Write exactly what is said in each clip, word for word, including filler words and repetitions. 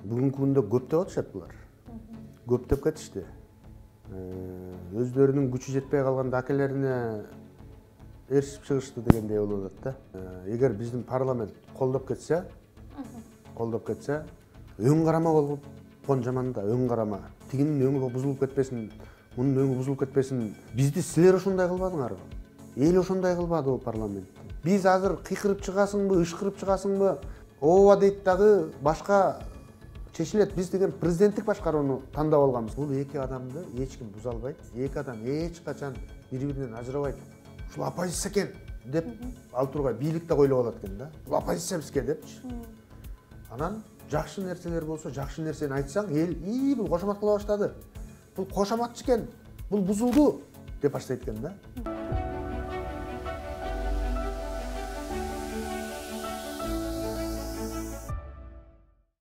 бүгүнкү күндө көп деп атышат булар. Көп деп кетишти. Өздөрүнүн күчү жетпей калганда акелерине эришип чыгышты дегендей болуп атат да. Эгер биздин парламент колдоп кетсе, колдоп кетсе, өң карама болгон жаман да, өң карама. Тигинин өңү бузулуп кетпесин, мунун өңү бузулуп кетпесин. Бизди силер ошондой кылбадыңарбы? Эл ошондой кылбады бул парламент. Биз азыр кыйкырып чыгасыңбы, ышкырып чыгасыңбы, ооба дейт дагы башка чечилет. Биз деген президенттик башкарууну тандап алганбыз. Бул эки адамды эч ким буза албайт. Эки адам эч качан бири-биринен ажырабайт. Ушул оппозиция экен деп ал тургай бийлик да ойлоп алат экен да. Бул оппозиция бизге депчи. Анан жакшы нерселер болсо, жакшы нерсени айтсаң, эл "И, бул кошомат кыла баштады. Бул кошоматчы экен. Бул бузулду" деп баштайт экен да.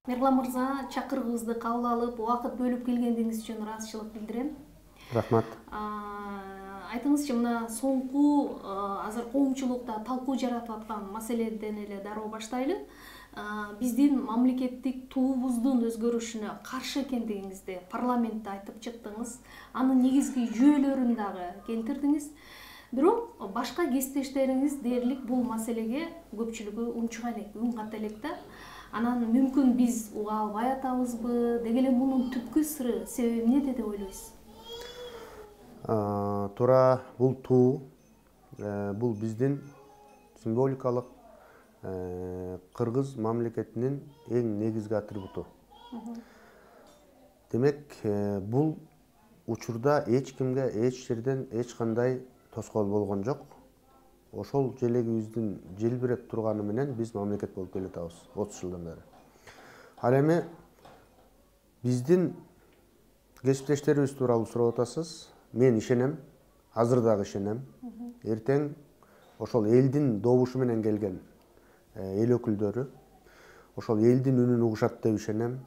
Мирлан мырза, чакырыгыбызды кабыл алып, убакыт бөлүп келгениңиз үчүн ыраазычылык билдирем. Рахмат. Айтыңызчы, мына соңку азыр коомчулукта талкуу жаратып аткан маселеден эле дароо баштайлы. Биздин мамлекеттик туубуздун өзгөрүшүнө каршы экендигиңизди парламентте айтып чыктыңыз. Анын негизги жүйөлөрүн дагы келтирдиңиз. Бирок башка кесиптештериңиз дээрлик бул маселеге көпчүлүгү унчуган элек, үн ката элек да. Анан мүмкүн биз уга албай атабызбы? Деги эле мунун түпкү сыры, себеби эмнеде деп ойлойсуз? Туура, бул туу, бул биздин символикалык кыргыз мамлекетинин эң негизги атрибуту. Демек, бул учурда эч кимге эч жерден эч кандай тоскоол болгон жок. Ошол желегибиздин желбиреп турганы менен биз мамлекет болуп келатабыз отуз жылдан бери. Ал эми биздин кесиптештерибиз тууралуу сурап атасыз. Мен ишенем, азыр дагы ишенем. Эртең ошол элдин добушу менен келген эл өкүлдөрү ошол элдин үнүн угушат деп ишенем.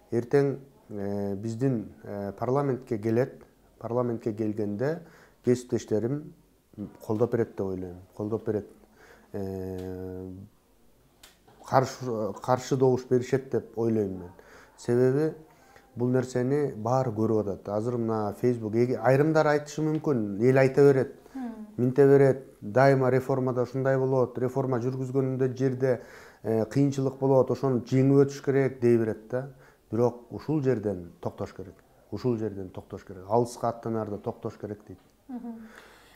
Эртең биздин парламентке келет, парламентке келгенде кесиптештерим колдоп берет деп ойлойм. Колдоп берет. Каршы каршы добуш беришет деп ойлойм мен. Себеби бул нерсени баары көрүп атат. Азыр мына Facebook айрымдар айтышы мүмкүн, эл айта берет, минте берет, дайыма реформада ушундай болот, реформа жүргүзгөндө жерде кыйынчылык болот, ошону жеңип өтүш керек дей берет да. Бирок ушул жерден токтош керек. Ушул жерден токтош керек. Алыска аттанарда токтош керек дейт.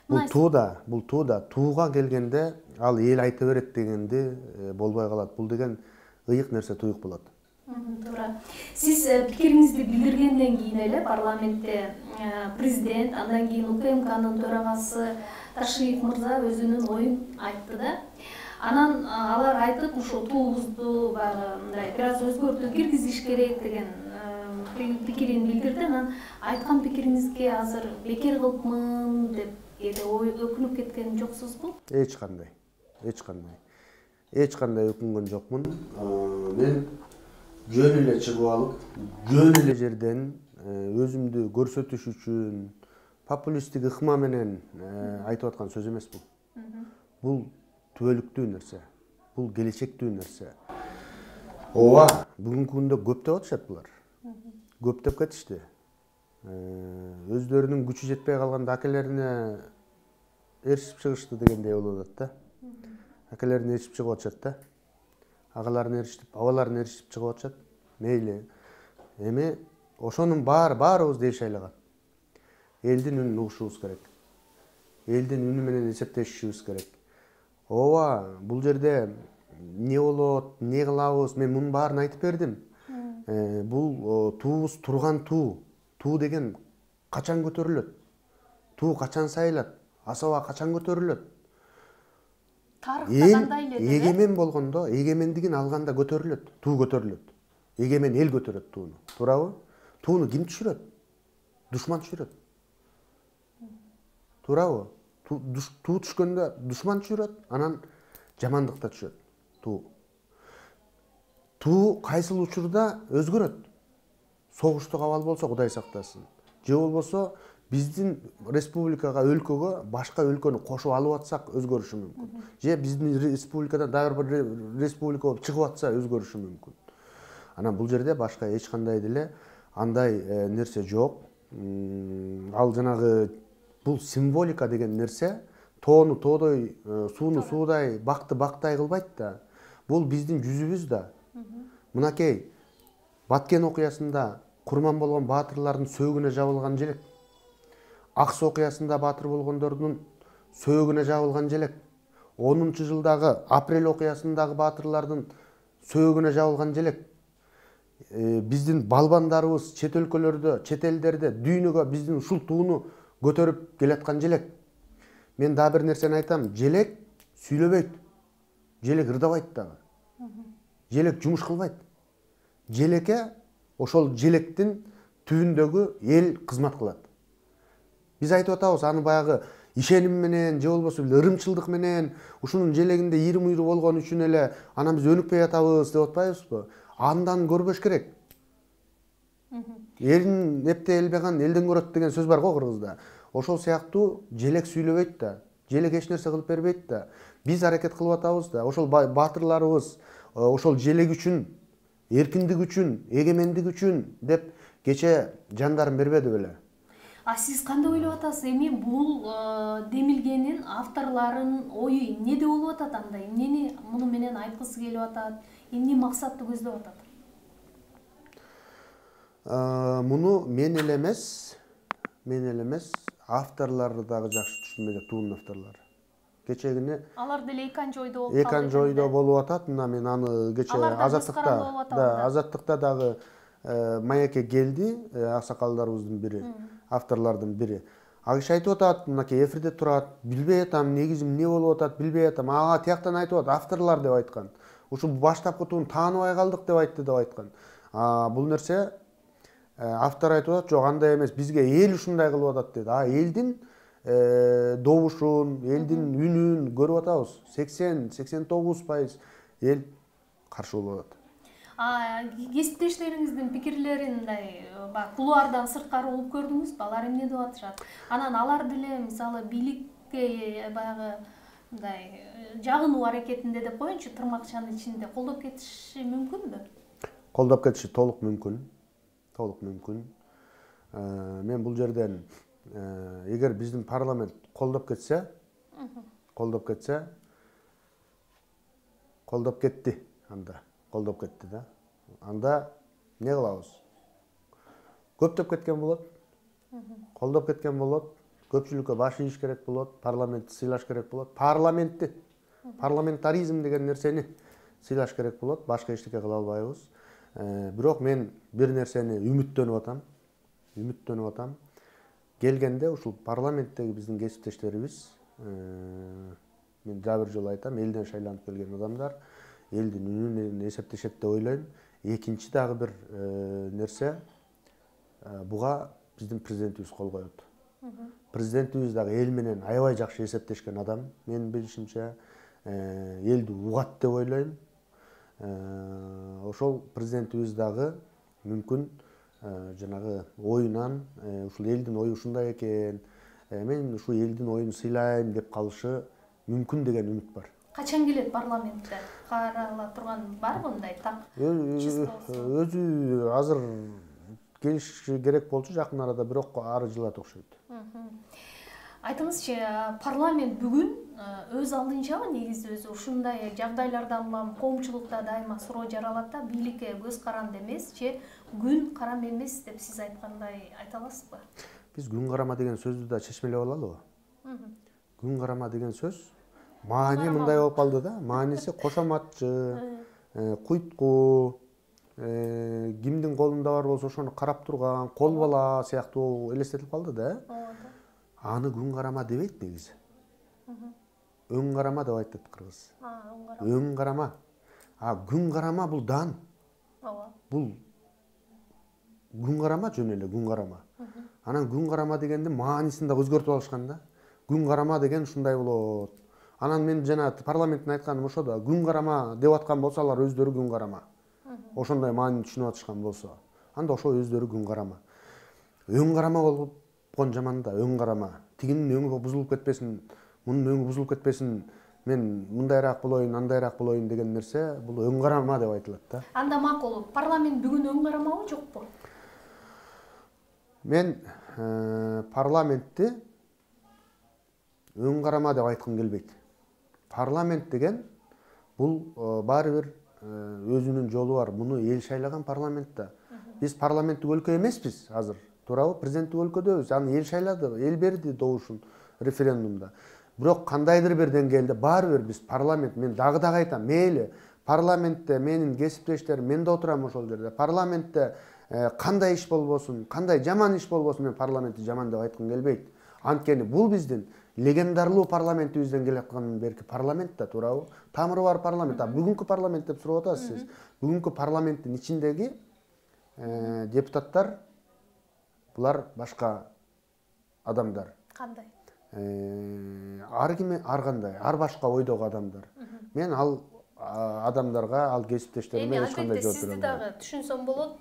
Бул тууда, бул тууда, тууга келгенде ал эл айта берет дегенди болбой калат. Бул деген ыйык нерсе туюк болот. Туура. Сиз пикириңизди билдиргенден кийин эле парламентте президент, андан кийин УКМКнын төрагасы Ташиев мырза өзүнүн оюн айтты да. Анан алар айтып, ушул туубузду баягы мындай бир аз өзгөртүү киргизиш керек деген пикирин билдирди. Анан айткан пикириңизге азыр бекер кылыпмын деп кээде өкүнүп кеткен жоксузбу? Эч кандай. Эч кандай. Эч кандай өкүнгөн жокмун. Мен жөн эле чыгып алып, жөн эле жерден өзүмдү көрсөтүш үчүн популисттик ыкма менен айтып аткан сөз эмес бул. Бул түбөлүктүү нерсе. Бул келечектүү нерсе. Ооба, бүгүнкү күндө көп деп атышат булар. Көп деп кетишти. Өздөрүнүн күчү жетпей калганда акелерине эришип чыгышты дегендей болуп атат да. Акелерине эришип чыгып атышат да. Агаларын эришип, абаларын эришип чыгып атышат. Мейли. Эми ошонун баары баарыбыз деш айлаган. Элдин үнүн угушубуз керек. Элдин үнү менен эсептешишибиз керек. Ооба, бул жерде эмне болот, эмне кылабыз, мен мунун баарын айтып бердим. Бул туубуз турган туу. Туу деген качан көтөрүлөт? Туу качан сайылат? Асаба качан көтөрүлөт? Тарыхта кандай эле? Эгемен болгондо, эгемендигин алганда көтөрүлөт, туу көтөрүлөт. Эгемен эл көтөрөт тууну. Туурабы? Тууну ким түшүрөт? Душман түшүрөт. Туурабы? Туу түшкөндө душман түшүрөт, анан жамандык да түшөт. Туу. Туу кайсыл учурда өзгөрөт? Согуштук абал болсо Кудай сактасын. Же болбосо биздин республикага, өлкөгө башка өлкөнү кошуп алып атсак өзгөрүшү мүмкүн. Же биздин республикадан дагы бир республика болуп чыгып атса өзгөрүшү мүмкүн. Анан бул жерде башка эч кандай деле андай нерсе жок. Ал жанагы бул символика деген нерсе тоону тоодой, сууну суудай, бакты бактай кылбайт да. Бул биздин жүзүбүз да. Мынакей Баткен окуясында курман болгон баатырлардын сөөгүнө жабылган желек. Ак Суу окуясында баатыр болгондордун сөөгүнө жабылган желек. онунчу жылдагы апрель окуясындагы баатырлардын сөөгүнө жабылган желек. Биздин балбандарыбыз чет өлкөлөрдө, чет элдерде дүйнөгө биздин ушул тууну көтөрүп келаткан желек. Мен дагы бир нерсени айтам, желек сүйлөбөйт. Желек ырдабайт дагы. Желек жумуш кылбайт. Желекке ошол желектин түбүндөгү эл кызмат кылат. Биз айтып атабыз, аны баягы ишеним менен же болбосо ырымчылдык менен ушунун желегинде ийри муйру болгон үчүн эле анан биз өнүкпөй атабыз деп атпайбызбы? Андан көрбөш керек. Элин эптей элбеган элден көрөт деген сөз бар го кыргызда. Ошол сыяктуу желек сүйлөбөйт да. Желек эч нерсе кылып бербейт да. Биз аракет кылып атабыз да. Ошол баатырларыбыз ошол желек үчүн, эркиндик үчүн, эгемендик үчүн деп кече жандарын бербеди беле. А сиз кандай ойлоп атасыз? Эми бул демилгенин авторлорунун ою эмнеде болуп атат анда? Эмнени муну менен айткысы келип атат? Эмне максатты көздөп атат? Муну мен эле эмес, мен эле эмес, авторлору дагы жакшы түшүнбөйт, туунун авторлору. Кечегине алар деле экинчи ойдо болуп калды. Экинчи ойдо болуп атат. Мына мен аны кече Азаттыкта, да, Азаттыкта дагы маекке келди, аксакалдарыбыздын бири, авторлордун бири. А киши айтып атат, мынакей эфирде турат, билбей атам, негизи эмне болуп атат, билбей атам. Ага тияктан айтып атат, авторлор деп айткан. Ушул баштапкы тууну тааныбай калдык деп айтты деп айткан. Бул нерсе автор айтып атат, жок андай эмес, бизге эл ушундай кылып атат деди. А элдин добушун, элдин үнүн көрүп атабыз. сексен сексен тогуз пайыз эл каршы болуп атат. А кесиптештериңиздин пикирлерин мындай кулуардан сырткары угуп көрдүңүзбү? Алар эмне деп атышат? Анан алар деле мисалы бийликке баягы мындай жагынуу аракетинде деп коеюнчу, тырмакчанын ичинде колдоп кетиши мүмкүнбү? Колдоп кетиши толук мүмкүн. Толук мүмкүн. Мен бул жерден эгер биздин парламент колдоп кетсе, колдоп кетсе, колдоп кетти анда. Колдоп кетти да. Анда не кылабыз? Көптөп кеткен болот. Колдоп кеткен болот. Көпчүлүккө баш ийиш керек болот. Парламентти сыйлаш керек болот. Парламентти, парламентаризм деген нерсени сыйлаш керек болот. Башка эчтеке кыла албайбыз. Бирок мен бир нерсени үмүттөнүп атам. Үмүттөнүп атам. Келгенде ушул парламенттеги биздин кесиптештерибиз, мен дагы бир жолу айтам, элден шайланып келген адамдар элдин үнүнөн эсептешет деп ойлойм. Экинчи дагы бир нерсе, буга биздин президентибиз кол коет. Президентибиз дагы эл менен аябай жакшы эсептешкен адам, менин билишимче, элди угат деп ойлойм. Ошол президентибиз дагы мүмкүн жанагы оюнан ушул элдин ою ушундай экен, мен ушул элдин оюн сыйлайм деп калышы мүмкүн деген үмүт бар. Качан келет парламентте? Карала турган барбы мындай так? Өзү азыр келиши керек болчу жакын арада, бирок ары жылат окшойт. Айтыңызчы, парламент бүгүн өз алдынчабы негизи өзү ушундай жагдайлардан улам коомчулукта дайыма суроо жаралат да, бийликке көз каранды эмес же күн карама эмес деп сиз айткандай айта аласызбы? Биз күн карама деген сөздү да чечмелеп алалыбы? Күн карама деген сөз маани мындай болуп калды да, мааниси кошоматчы, куйткуу, кимдин колунда бар болсо ошону карап турган, кол бала сыяктуу элестетип калды да. Аны күн карама дебейт негизи. Өң карама деп айтат кыргыз. Өң карама. А күн карама бул дан. Бул күн карама жөн эле күн карама. Анан күн карама дегенди маанисин да өзгөртүп алышкан да. Күн карама деген ушундай болот. Анан мен жана парламенттин айтканым ошо да, күн карама деп аткан болсо алар өздөрү күн карама. Ошондой маанини түшүнүп атышкан болсо, анда ошо өздөрү күн карама. Өң карама болгон жаман да, өң карама. Тигинин өңү бузулуп кетпесин, мунун өңү бузулуп кетпесин, мен мындайраак болоюн, андайраак болоюн деген нерсе бул өң карама деп айтылат да. Анда макул, парламент бүгүн өң карамабы, жокпу? Мен парламентти өң карама деп айткым келбейт. Парламент деген бул баары бир өзүнүн жолу бар. Муну эл шайлаган парламент да. Биз парламенттик өлкө эмеспиз азыр. Туурабы? Президенттик өлкөдөбүз. Аны эл шайлады, эл берди добушун референдумда. Бирок кандайдыр бир деңгээлде баары бир биз парламент, мен дагы дагы айтам, мейли парламентте менин кесиптештерим, мен да отурам ошол жерде. Парламентте кандай иш болбосун, кандай жаман иш болбосун, мен парламентти жаман деп айткым келбейт. Анткени бул биздин легендарлуу парламентибизден келаткан берки парламент да, туурабы? Тамыры бар парламент. А бүгүнкү парламент деп сурап атасыз сиз. Бүгүнкү парламенттин ичиндеги депутаттар булар башка адамдар. Кандай? Ар ким ар кандай, ар башка ойдогу адамдар. Мен ал адамдарга, ал кесиптештериме эч кандай жооп бере албайм. Сизди дагы түшүнсөм болот,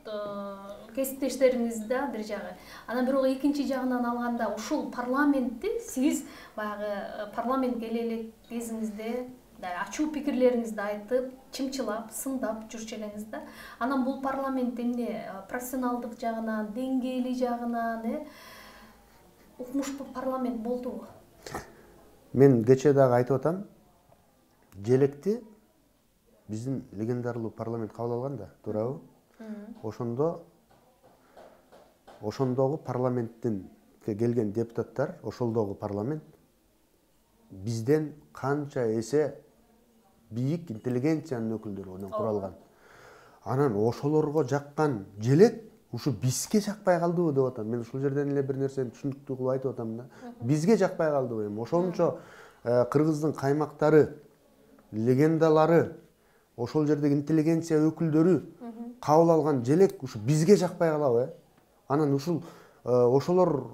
кесиптештериңиз да бир жагы. Анан бирок экинчи жагынан алганда ушул парламентти сиз баягы парламентке келе элек кезиңизде ачуу пикирлериңизди айтып, чымчылап, сындап жүрчү элеңиз да. Анан бул парламент эмне профессионалдык жагынан, деңгээли жагынан, э укмуштуу парламент болдубу? Мен кечээ дагы айтып атам. Желекти биздин легендарлуу парламент кабыл алган да, туурабы? Ошондо ошондогу парламенттин келген депутаттар, ошолдогу парламент бизден канча эсе бийик интеллигенциянын өкүлдөрүнөн куралган. Анан ошолорго жаккан желек ушу бизге жакпай калдыбы деп атам. Мен ушул жерден эле бир нерсени түшүнүктүү кылып айтып атам да. Бизге жакпай калдыбы эми? Ошончо кыргыздын каймактары, легендалары, ошол жердеги интеллигенция өкүлдөрү кабыл алган желек ушу бизге жакпай калабы, э? Анан ушул ошолордун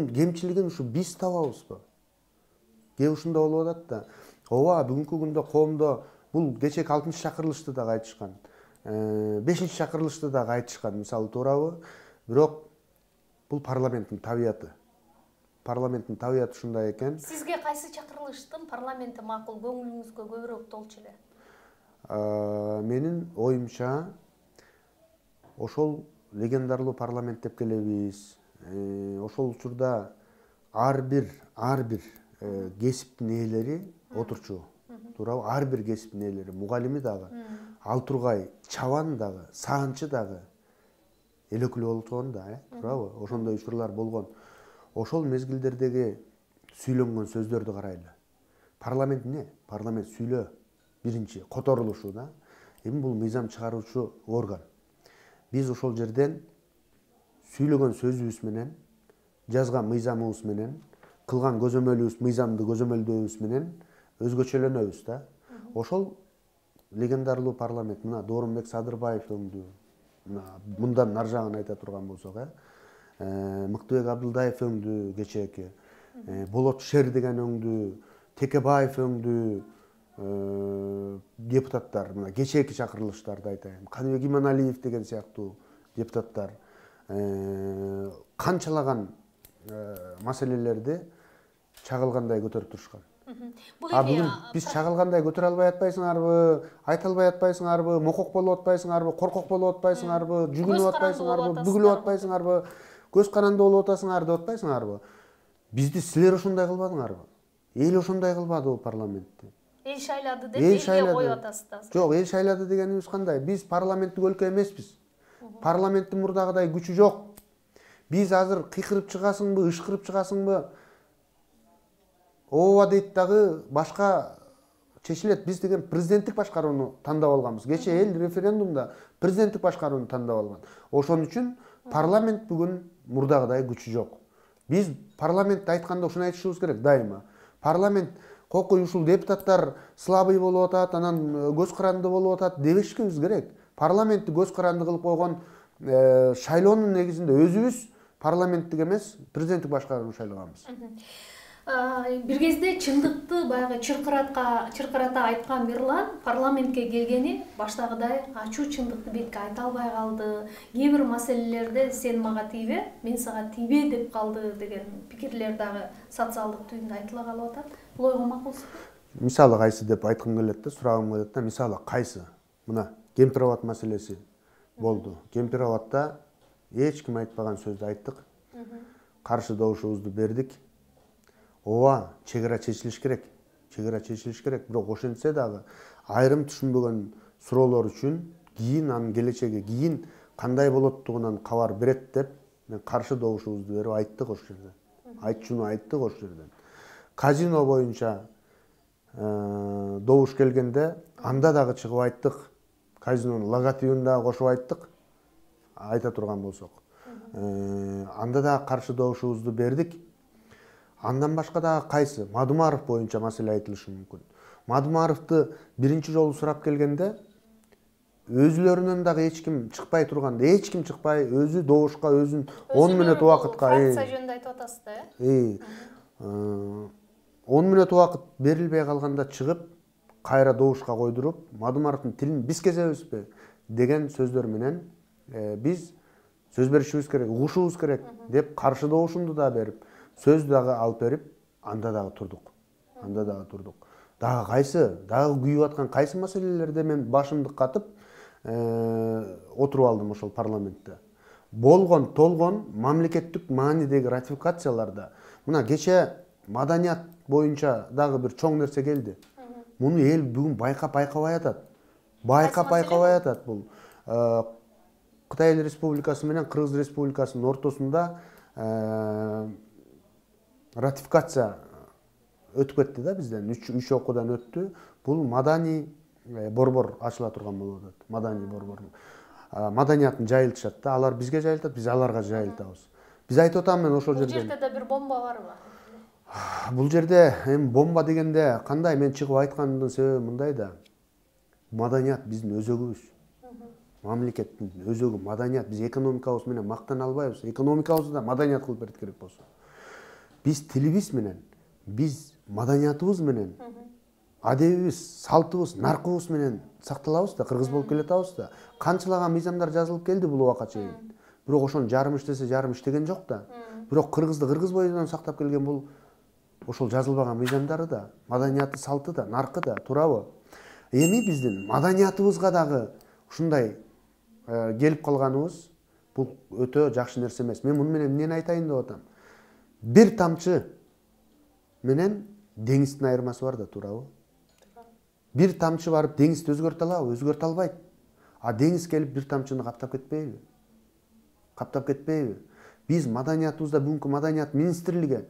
кемчилигин ушу биз табабызбы? Кээ ушунда болуп атат да. Ооба, бүгүнкү күндө коомдо бул кечээки алтынчы чакырылышты дагы айтышкан. бешинчи чакырылышты дагы айтышкан, мисалы, туурабы? Бирок бул парламенттин табияты. Парламенттин табияты ушундай экен. Сизге кайсы чакырылыштын парламенти макул, көңүлүңүзгө көбүрөөк толчу эле? Менин оюмча ошол легендарлуу парламент деп келебиз. Ошол учурда ар бир ар бир кесиптин ээлери отурчу. Туурабы? Ар бир кесиптин ээлери, мугалими дагы, ал тургай чабан дагы, саанчы дагы эл өкүлү болгон да, э? Туурабы? Ошондой учурлар болгон. Ошол мезгилдердеги сүйлөнгөн сөздөрдү карайлы. Парламент эмне? Парламент сүйлөө. Биринчи которулушу да. Эми бул мыйзам чыгаруучу орган. Биз ошол жерден сүйлөгөн сөзүбүз менен, жазган мыйзамыбыз менен, кылган көзөмөлүбүз, мыйзамды көзөмөлдөөбүз менен өзгөчөлөнөбүз да. Ошол легендарлуу парламент, мына Доорунбек Садырбаев өңдү, мындан нар жагын айта турган болсок, э Мыктыбек Абдылдаев өңдү кечээки, Болот Шер деген өңдү, Текебаев өңдү, депутаттар, мына кечээки чакырылыштарды айтайын, Каныбек Иманалиев деген сыяктуу депутаттар канчалаган маселелерди чагылгандай көтөрүп турушкан. А бүгүн биз чагылгандай көтөрө албай атпайсыңарбы, айта албай атпайсыңарбы, мокок болуп атпайсыңарбы, коркок болуп атпайсыңарбы, жүгүнүп атпайсыңарбы, бүгүлүп атпайсыңарбы, көз каранды болуп атасыңар деп атпайсыңарбы? Бизди силер ошондой кылбадыңарбы? Эл ошондой кылбады бул парламентти. Эл шайлады деп элге коюп атасыздар. Жок, эл шайлады дегенибиз кандай? Биз парламенттик өлкө эмеспиз. Парламенттин мурдагыдай күчү жок. Биз азыр кыйкырып чыгасыңбы, ышкырып чыгасыңбы? Ооба дейт дагы башка чечилет. Биз деген президенттик башкарууну тандап алганбыз. Кечээ эл референдумда президенттик башкарууну тандап алган. Ошон үчүн парламент бүгүн мурдагыдай күчү жок. Биз парламентте айтканда ушуну айтышыбыз керек дайыма. Парламент кокуй ушул депутаттар слабый болуп атат, анан көз каранды болуп атат дебешкибиз керек. Парламентти көз каранды кылып койгон шайлоонун негизинде өзүбүз парламенттик эмес, президенттик башкарууну шайлаганбыз. Бир кезде чындыкты баягы чыркыратка чыркырата айткан Мирлан парламентке келгени баштагыдай ачуу чындыкты бетке айта албай калды. Кээ бир маселелерде сен мага тийбе, мен сага тийбе деп калды деген пикирлер дагы социалдык түйүндө айтыла калып атат. Бул ойго макулсузбу? Мисалы кайсы деп айткым келет да, сурагым келет да. Мисалы кайсы? Мына Кемпир-Абад маселеси болду. Кемпир-Абадта эч ким айтпаган сөздү айттык. Каршы добушубузду бердик. Ооба, чек ара чечилиш керек. Чек ара чечилиш керек. Бирок ошентсе дагы айрым түшүнбөгөн суроолор үчүн кийин анын келечеги, кийин кандай болоттугунан кабар берет деп мен каршы добушубузду берип айттык ошол жерде. Айтчуну айттык ошол жерден. Казино боюнча добуш келгенде анда дагы чыгып айттык. Казинонун логотипин дагы кошуп айттык. Айта турган болсок. Анда дагы каршы добушубузду бердик. Андан башка дагы кайсы? Мадумаров боюнча маселе айтылышы мүмкүн. Мадумаровду биринчи жолу сурап келгенде өзүлөрүнөн дагы эч ким чыкпай турганда, эч ким чыкпай, өзү добушка өзүн он мүнөт убакытка, фракция жөнүндө айтып атасыз да, э? он мүнөт убакыт берилбей калганда чыгып, кайра добушка койдуруп, Мадумаровдун тилин биз кезебизби деген сөздөр менен биз сөз беришибиз керек, угушубуз керек деп каршы добушумду да берип, сөз дагы алып берип, анда дагы турдук. Анда дагы турдук. Дагы кайсы, дагы күйүп аткан кайсы маселелерде мен башымды катып отуруп алдым ошол парламентте. Болгон, толгон мамлекеттик маанидеги ратификацияларда. Мына кече маданият боюнча дагы бир чоң нерсе келди. Муну эл бүгүн байкап байкабай атат. Байкап байкабай атат бул. Кытай Республикасы менен Кыргыз Республикасынын ортосунда ратификация өтүп кетти да бизден. үч окуудан өттү. Бул маданий борбор ачыла турган болуп атат. Маданий борбор. Маданиятын жайылтышат да, алар бизге жайылтат, биз аларга жайылтабыз. Биз айтып атам мен ошол жерде. Бул жерде да бир бомба барбы? Бул жерде эми бомба дегенде кандай мен чыгып айткандын себеби мындай да. Маданият биздин өзөгүбүз. Мамлекеттин өзөгү маданият. Биз экономикабыз менен мактана албайбыз. Экономикабызды да маданият кылып берет керек болсо. Биз тилибиз менен, биз маданиятыбыз менен, адебибиз, салтыбыз, наркыбыз менен сакталабыз да, кыргыз болуп келатабыз да. Канчалаган мыйзамдар жазылып келди бул убакка чейин. Бирок ошонун жарым иштесе, жарым иштеген жок да. Бирок кыргызды кыргыз боюнан сактап келген бул ошол жазылбаган мыйзамдары да, маданияты, салты да, наркы да, туурабы? Эми биздин маданиятыбызга дагы ушундай келип калганыбыз бул өтө жакшы нерсе эмес. Мен муну менен эмнени айтайын деп атам? Бир тамчы менен деңиздин айырмасы бар да, туурабы? Бир тамчы барып деңизди өзгөртө алабы? Өзгөртө албайт. А деңиз келип бир тамчыны каптап кетпейби? Каптап кетпейби? Биз маданиятыбызда бүгүнкү маданият министрлиги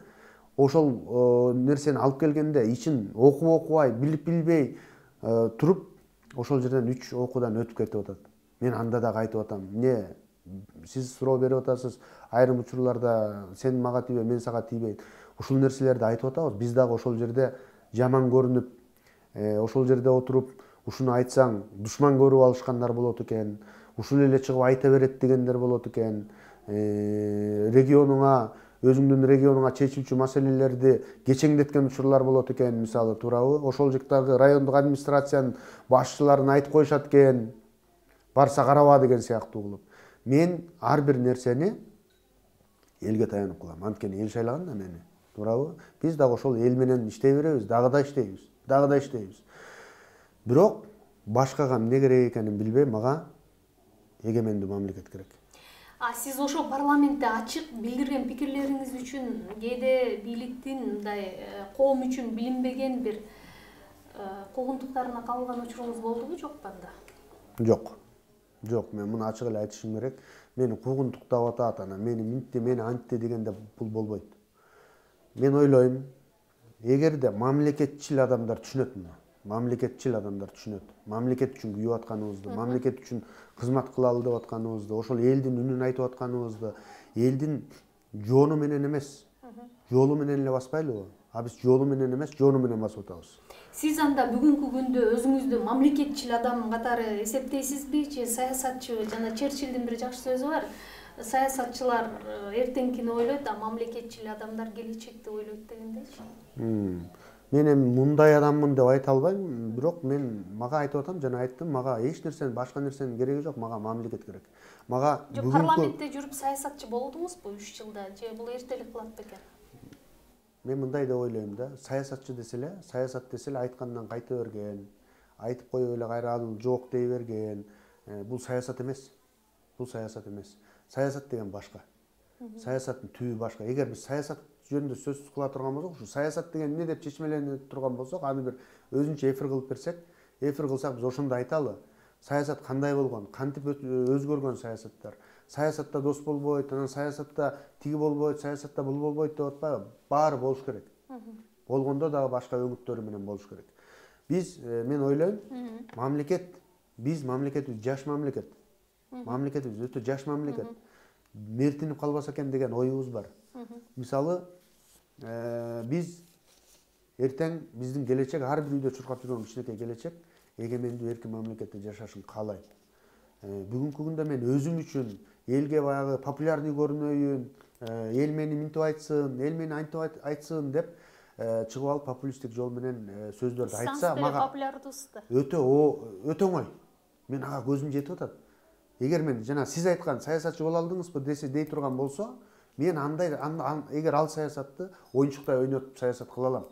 ошол нерсени алып келгенде ичин окуп окубай, билип билбей туруп ошол жерден үч окуудан өтүп кетип атат. Мен анда дагы айтып атам. Не сиз суроо берип атасыз, айрым учурларда сен мага тийбей, мен сага тийбейт. Ушул нерселерди айтып атабыз. Биз дагы ошол жерде жаман көрүнүп, ошол жерде отуруп, ушуну айтсаң душман көрүп алышкандар болот экен. Ушул эле чыгып айта берет дегендер болот экен. Регионуңа, өзүңдүн регионуңа чечилчү маселелерди кечеңдеткен учурлар болот экен, мисалы, туурабы? Ошол жактагы райондук администрациянын башчыларын айтып коюшат экен. Барса караба деген сыяктуу кылып. Мен ар бир нерсени элге таянып кылам. Анткени эл шайлаган да мени, туурабы? Биз дагы ошол эл менен иштей беребиз, дагы да иштейбиз, дагы да иштейбиз. Бирок башкага эмне керек экенин билбей, мага эгемендүү мамлекет керек. А сиз ошол парламентте ачык билдирген пикирлериңиз үчүн кээде бийликтин мындай коом үчүн билинбеген бир куугунтуктарына кабылган учуруңуз болдубу, жокпу анда? Жок. Жок, мен муну ачык эле айтышым керек. Мени куугунтуктап атат, ана мени минтти, мени антти дегенде бул болбойт. Мен ойлойм, эгерде мамлекетчил адамдар түшүнөт муну. Мамлекетчил адамдар түшүнөт. Мамлекет үчүн күйүп атканыбызды, мамлекет үчүн кызмат кылалы деп атканыбызды, ошол элдин үнүн айтып атканыбызды, элдин жону менен эмес, жолу менен эле баспайлыбы? А биз жолу менен эмес, жону менен басып атабыз. Сиз анда бүгүнкү күндө өзүңүздү мамлекетчил адам катары эсептейсизби же саясатчы? Жана Черчиллдин бир жакшы сөзү бар. саясатчылар эртеңкини ойлойт, а мамлекетчил адамдар келечекти ойлойт дегендейчи. Мен эми мындай адаммын деп айта албайм, бирок мен мага айтып атам, жана айттым, мага эч нерсенин, башка нерсенин кереги жок, мага мамлекет керек. Мага бүгүнкү парламентте жүрүп саясатчы болдуңузбу үч жылда, же бул эртелик кылат бекен? Мен мындай деп ойлойм да, саясатчы десе эле, саясат десе эле айткандан кайта берген, айтып коюп эле кайра ал жок дей берген, бул саясат эмес. Бул саясат эмес. Саясат деген башка. Саясаттын түбү башка. Эгер биз саясат жөнүндө сөз кыла турган болсок, ушу саясат деген эмне деп чечмелене турган болсок, аны бир өзүнчө эфир кылып берсек, эфир кылсак биз ошондо айталы. Саясат кандай болгон, кантип өзгөргөн саясаттар. Саясатта дос болбойт, анан саясатта тиги болбойт, саясатта бул болбойт деп атпайбы? Баары болуш керек. Болгондо дагы башка өңүттөрү менен болуш керек. Биз, мен ойлойм, мамлекет, биз мамлекетибиз жаш мамлекет. Мамлекетибиз өтө жаш мамлекет. Мертинип калбаса экен деген оюбуз бар. Мисалы, биз эртең биздин келечек, ар бир үйдө чуркап жүргөн кичинекей келечек, эгемендүү эркин мамлекетте жашашын каалайм. Бүгүнкү күндө мен өзүм үчүн элге баягы популярный көрүнөйүн, эл мени минтип айтсын, эл мени антип айтсын деп чыгып алып популисттик жол менен сөздөрдү айтса, мага өтө өтө оңой. Мен ага көзүм жетип атат. Эгер мен жана сиз айткан саясатчы боло алдыңызбы десе дей турган болсо, мен андай эгер ал саясатты оюнчуктай ойнотуп саясат кыла алам.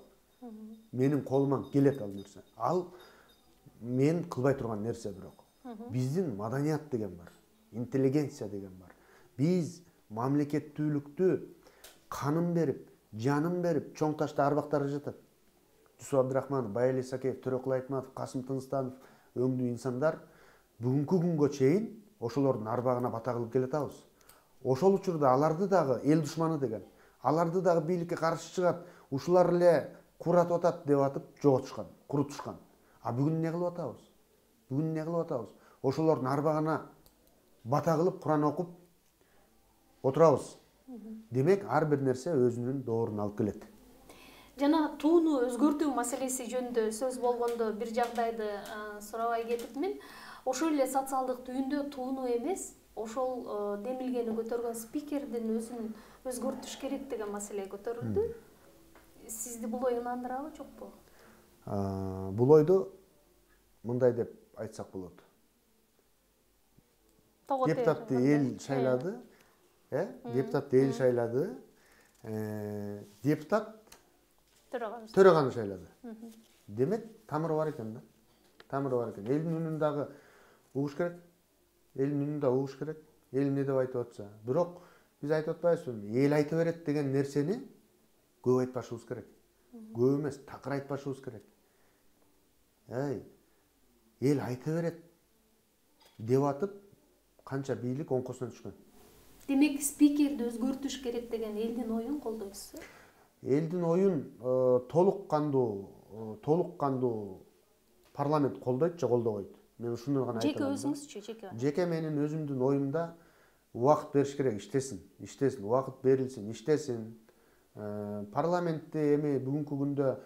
Менин колуман келет ал нерсе. Ал мен кылбай турган нерсе бирок. Биздин маданият деген бар, интеллигенция деген бар. Биз мамлекеттүүлүктү канын берип, жанын берип, чоң ташта арбактары жатат. Жусуп Абдрахманов, Байали Исакеев, Төрөкул Айтматов, Касым Тынстанов өңдүү инсандар бүгүнкү күнгө чейин ошолордун арбагына бата кылып келатабыз. Ошол учурда аларды дагы эл душманы деген, аларды дагы бийликке каршы чыгат, ушулар эле куратып атат деп атып жоготушкан, курутушкан. А бүгүн эмне кылып атабыз? Бүгүн эмне кылып атабыз? Ошолордун арбагына бата кылып, Куран окуп отурабыз. Демек, ар бир нерсе өзүнүн доорун алып келет. Жана тууну өзгөртүү маселеси жөнүндө сөз болгондо бир жагдайды сурабай кетипмин. Ошол эле социалдык түйүндө тууну эмес, ошол демилгени көтөргөн спикердин өзүн өзгөртүш керек деген маселе көтөрүлдү. Сизди бул ой ынандырабы, жокпу? Бул ойду мындай деп айтсак болот. Депутатты эл шайлады, э? Депутатты эл шайлады. Депутат төрөганы шайлады. Демек, тамыры бар экен да. Тамыры бар экен. Элдин үнүн дагы угуш керек. Элдин үнүн да угуш керек. Эл эмне деп айтып атса. Бирок биз айтып атпайбызбы? Эл айта берет деген нерсени көп айтпашыбыз керек. Көп эмес, такыр айтпашыбыз керек. Эй, эл айта берет деп атып, канча бийлик оңкосуна түшкөн. Демек, спикерди өзгөртүш керек деген элдин оюн колдойсузбу? Элдин оюн толук кандуу, толук кандуу парламент колдойт же колдобойт. Мен ушуну гана айта алам. Жеке өзүңүзчү, жеке? Жеке менин өзүмдүн оюмда убакыт бериш керек, иштесин, иштесин, убакыт берилсин, иштесин. Парламентте эми бүгүнкү күндө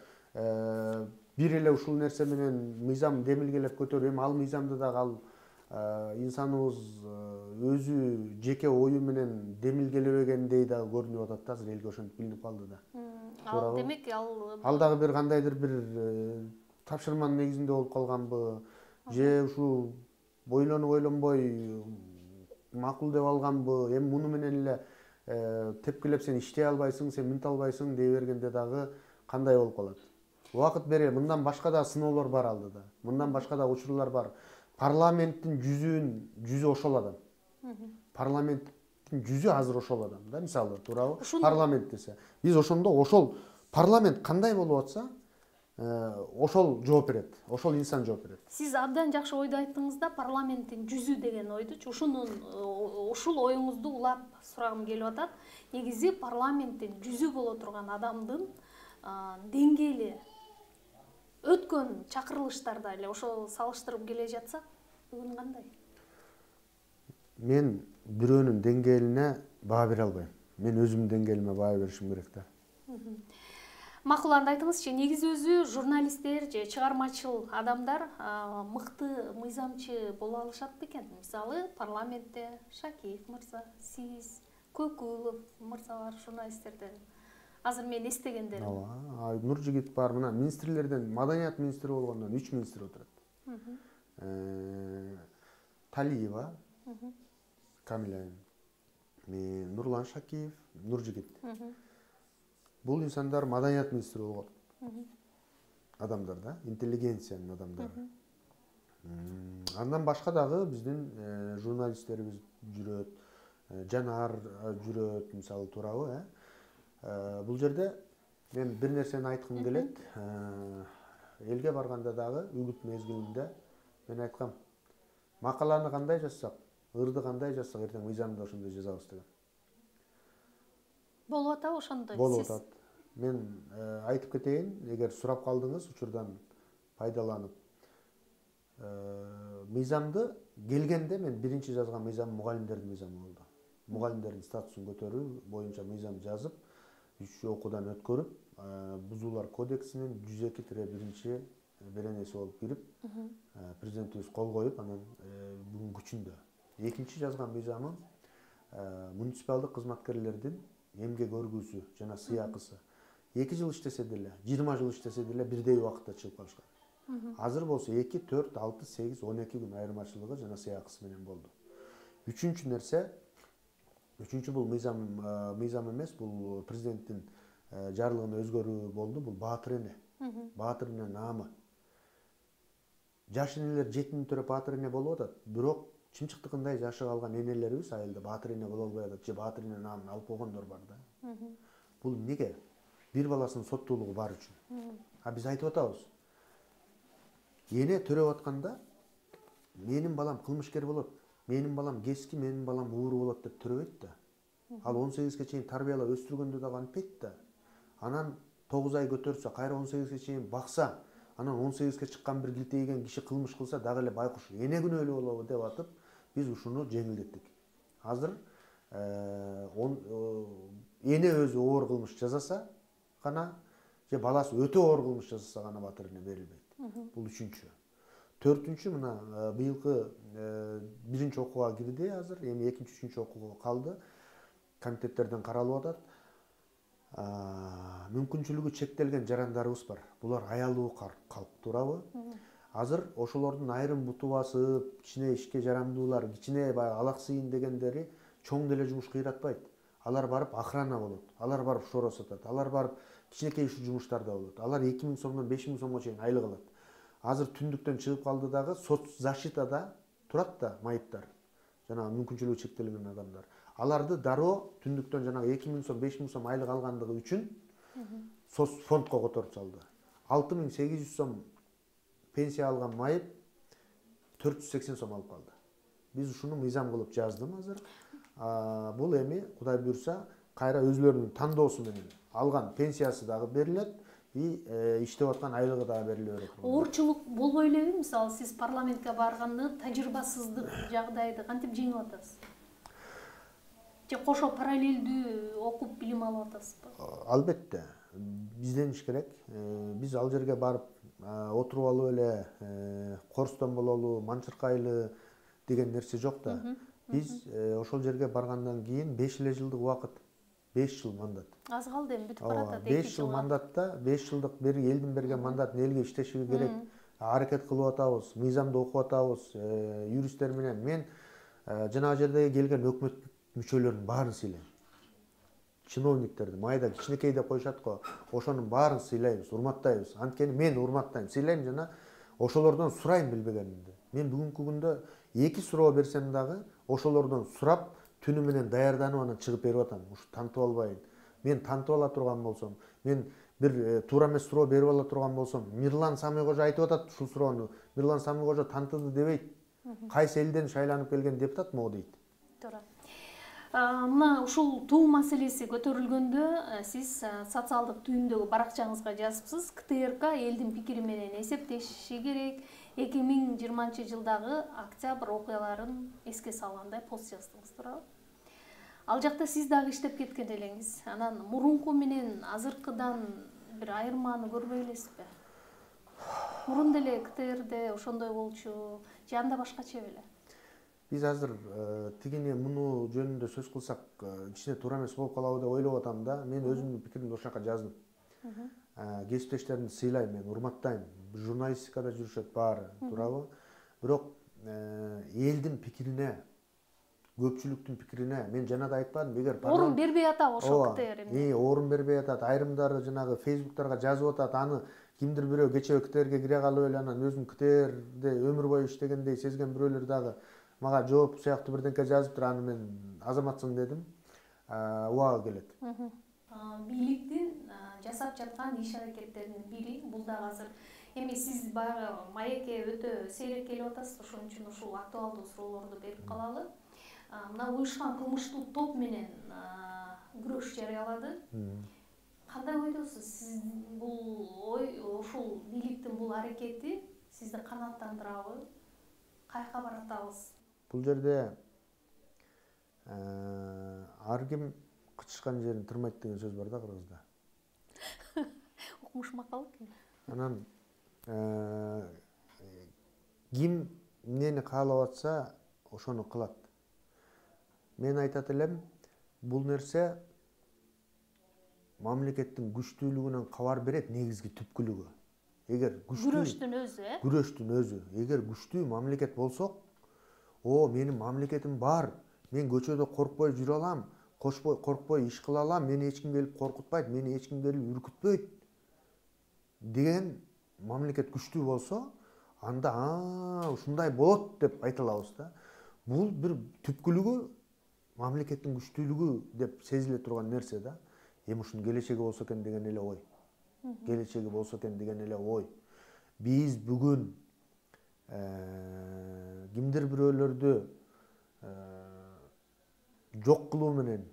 бир эле ушул нерсе менен мыйзам демилгелеп көтөрүп, эми ал мыйзамды дагы ал инсаныбыз өзү жеке ою менен демилгелебегендей дагы көрүнүп атат да, азыр элге ошентип билинип калды да. Ал демек ал ал дагы бир кандайдыр бир тапшырманын негизинде болуп калганбы, же ушул ойлонуп ойлонбой макул деп алганбы, эми муну менен эле тепкилеп сен иштей албайсың, сен минте албайсың дей бергенде дагы кандай болуп калат. Убакыт бере, мындан башка да сыноолор бар алдыда. Мындан башка да учурлар бар. Парламенттин жүзүн жүзү ошол адам. Парламенттин жүзү азыр ошол адам да, мисалы, туурабы? Парламент десе. Биз ошондо ошол парламент кандай болуп атса, ошол жооп берет. Ошол инсан жооп берет. Сиз абдан жакшы ойду айттыңыз да, парламенттин жүзү деген ойдучу. Ушунун ушул оюңузду улап сурагым келип атат. Негизи парламенттин жүзү боло турган адамдын деңгээли өткөн чакырылыштарда эле ошол салыштырып келе жатсак, бүгүн кандай? Мен бирөөнүн деңгээлине баа бере албайм. Мен өзүмдүн деңгээлиме баа беришим керек да. Макул, анда айтыңызчы, негизи өзү журналисттер же чыгармачыл адамдар мыкты мыйзамчы боло алышат бекен? Мисалы, парламентте Шакиев мырза, сиз, Көкүлов мырзалар журналисттерден. Азыр мен эстегендерим. Ооба, Нуржигит бар, мына министрлерден, маданият министри болгондон үч министр отурат. Талиева, Камиля, мен Нурлан Шакиев, Нуржигит. Бул инсандар маданият министри болгон адамдар да, интеллигенциянын адамдары. Андан башка дагы биздин журналисттерибиз жүрөт, Жанар жүрөт, мисалы, туурабы, э? Бул жерде мен бир нерсени айткым келет. Элге барганда дагы үгүт мезгилинде мен айткам, макаланы кандай жазсак, ырды кандай жазсак, эртең мыйзамды ошондой жазабыз деген. Болуп атабы ошондой? Болуп атат. Мен айтып кетейин, эгер сурап калдыңыз, учурдан пайдаланып. Мыйзамды келгенде мен биринчи жазган мыйзам мугалимдердин мыйзамы болду. Мугалимдердин статусун көтөрүү боюнча мыйзам жазып, үч окуудан өткөрүп, Бузуулар кодексинин жүз эки тире биринчи беренеси болуп кирип, президентибиз кол коюп, анан бүгүн күчүндө. Экинчи жазган мыйзамым муниципалдык кызматкерлердин эмгек өргүүсү жана сыйакысы. эки жыл иштесе деле, жыйырма жыл иштесе деле бирдей убакытта чыгып калышкан. Азыр болсо эки, төрт, алты, сегиз, он эки күн айырмачылыгы жана сыйакысы менен болду. Үчүнчү нерсе, үчүнчү бул мыйзам мыйзам эмес, бул президенттин жарлыгына өзгөрүү болду. Бул баатыр эне. Баатыр эне наамы. Жаш энелер жетимин төрөп баатыр эне болуп атат, бирок чымчыктыкындай жашы калган энелерибиз айылда баатыр эне боло албай атат, же баатыр эне наамын алып койгондор бар да. Бул эмнеге? Бир баласынын соттуулугу бар үчүн. А биз айтып атабыз. Эне төрөп атканда менин балам кылмышкер болот, менин балам кески, менин балам ууру болот деп төрөбөйт да. Ал он сегизге чейин тарбиялап өстүргөндө дагы антпейт да. Анан тогуз ай көтөрсө, кайра он сегизге чейин бакса, анан он сегизге чыккан бир килтейген киши кылмыш кылса дагы эле байкуш эне күнөөлүү болобу деп атып, биз ушуну жеңилдеттик. Азыр эне өзү оор кылмыш жасаса гана, же баласы өтө оор кылмыш жасаса гана баатыр эне берилбейт. Бул үчүнчү. Төртүнчү, мына быйылкы биринчи окууга кирди азыр, эми экинчи, үчүнчү окууга калды. Комитеттерден каралып атат. Мүмкүнчүлүгү чектелген жарандарыбыз бар. Булар аялуу калк, туурабы? Азыр ошолордун айрым буту басып, кичине ишке жарамдуулар, кичине баягы алаксыйын дегендери чоң деле жумуш кыйратпайт. Алар барып охрана болот, алар барып шоро сатат, алар барып кичинекей ушул жумуштарда болот. Алар эки миң сомдон беш миң сомго чейин айлык алат. Азыр түндүктөн чыгып калды дагы соцзащитада турат да майыптар. Жана мүмкүнчүлүгү чектелген адамдар. Аларды дароо түндүктөн жанагы эки миң сом, беш миң сом айлык алгандыгы үчүн соц фондко которуп салды. алты миң сегиз жүз сом пенсия алган майып төрт жүз сексен сом алып калды. Биз ушуну мыйзам кылып жаздым азыр. Бул эми Кудай буйрса кайра өзүлөрүнүн тандоосу менен алган пенсиясы дагы берилет, и иштеп аткан айлыгы дагы бериле берет. Оорчулук болбой элеби? Мисалы, сиз парламентке барганда тажрыйбасыздык жагдайды кантип жеңип атасыз? Же кошо параллелдүү окуп билим алып атасызбы? Албетте. Издениш керек. Биз ал жерге барып отуруп алып эле корстон бололу, манчыркайлы деген нерсе жок да. Биз ошол жерге баргандан кийин беш эле жылдык убакыт, беш жыл мандат. Аз калды, эми бүтүп баратат. беш жыл мандатта, беш жылдык бир элдин берген мандатын элге иштеши керек. Аракет кылып атабыз, мыйзамды окуп атабыз, юристтер менен. Мен жанагы жердеги келген өкмөт мүчөлөрүнүн баарын сыйлайм. Чиновниктерди, майда кичинекей деп коюшат го. Ошонун баарын сыйлайбыз, урматтайбыз. Анткени мен урматтайм, сыйлайм жана ошолордон сурайм билбегенимди. Мен бүгүнкү күндө эки суроо берсем дагы ошолордон сурап, түнү менен даярданып анан чыгып берип атам. Ушу тантып албайын. Мен тантып ала турган болсом, мен бир туура эмес суроо берип ала турган болсом, Мирлан Самый кожо айтып атат ушул суроону. Мирлан Самый кожо тантыды дебейт. Кайсы элден шайланып келген депутат могу дейт. Туура. Мына ушул туу маселеси көтөрүлгөндө сиз социалдык түйүндөгү баракчаңызга жазыпсыз. КТРК элдин пикири менен эсептешиши керек. эки миң жыйырманчы жылдагы октябрь окуяларын эске салгандай пост жаздыңыз, туурабы? Ал жакта сиз дагы иштеп кеткен элеңиз. Анан мурунку менен азыркыдан бир айырманы көрбөй элесизби? Мурун деле КТРде ошондой болчу, же анда башкача беле? Биз азыр тигини муну жөнүндө сөз кылсак кичине туура эмес болуп калабы деп ойлоп атам да. Мен өзүмдүн пикиримди ошол жака жаздым. Кесиптештеримди сыйлайм, мен урматтайм. Журналистикада жүрүшөт баары, туурабы? Бирок элдин пикирине, көпчүлүктүн пикирине мен жана да айтпадым, эгер орун бербей атабы ошол КТР эмне? Орун бербей атат. Айрымдары жанагы фейсбуктарга жазып атат, аны кимдир бирөө кечээ КТРге кире калып эле анан өзүн КТРде өмүр бою иштегендей сезген бирөөлөр дагы мага жооп сыяктуу бирденке жазыптыр, аны мен азаматсың дедим. Убагы келет. Бийликтин жасап жаткан иш аракеттеринин бири бул дагы азыр эми сиз баягы маекке өтө сейрек келип атасыз, ошон үчүн ушул актуалдуу суроолорду берип калалы. Мына уюшкан кылмыштуу топ менен күрөш жарыялады. Кандай ойдосуз? Сиз бул ой, ушул бийликтин бул аракети сизди канааттандырабы? Каяка баратабыз? Бул жерде ар ким кычышкан жерин тырмайт деген сөз бар да кыргызда. Укмуш макал экен. Анан ким эмнени каалап атса, ошону кылат. Мен айтат элем, бул нерсе мамлекеттин күчтүүлүгүнөн кабар берет, негизги түпкүлүгү. Эгер күчтүү күрөштүн өзү, э? Күрөштүн өзү. Эгер күчтүү мамлекет болсок, о, менин мамлекетим бар, мен көчөдө коркпой жүрө алам, коркпой иш кыла алам, мени эч ким келип коркутпайт, мени эч ким келип үркүтпөйт деген мамлекет күчтүү болсо, анда ушундай болот деп айта алабыз да. Бул бир түпкүлүгү мамлекеттин күчтүүлүгү деп сезиле турган нерсе да. Эми ушунун келечеги болсо экен деген эле ой. Келечеги болсо экен деген эле ой. Биз бүгүн кимдир бирөөлөрдү жок кылуу менен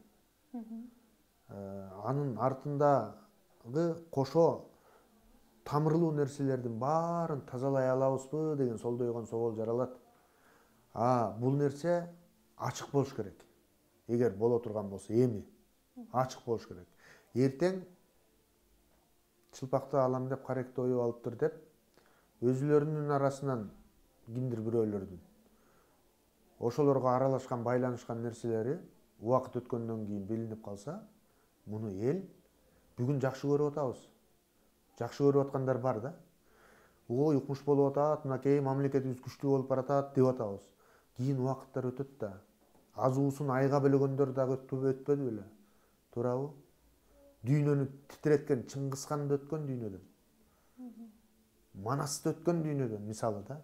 анын артындагы кошо тамырлуу нерселердин баарын тазалай алабызбы деген солдойгон соол жаралат. А бул нерсе ачык болуш керек. Эгер боло турган болсо, эми ачык болуш керек. Эртең чылпакты алам деп каректи оюп алыптыр деп өзүлөрүнүн арасынан кимдир бирөөлөрдүн ошолорго аралашкан, байланышкан нерселери убакыт өткөндөн кийин билинип калса, муну эл бүгүн жакшы көрүп атабыз. Жакшы көрүп аткандар бар да. Ой, укмуш болуп атат, мынакей мамлекетибиз күчтүү болуп баратат деп атабыз. Кийин убакыттар өтөт да. Азуусун айга бөлөгөндөр дагы өтпөдү беле? Туурабы? Дүйнөнү титиреткен Чыңгызханды өткөн дүйнөдөн. Манасты өткөн дүйнөдөн мисалы да.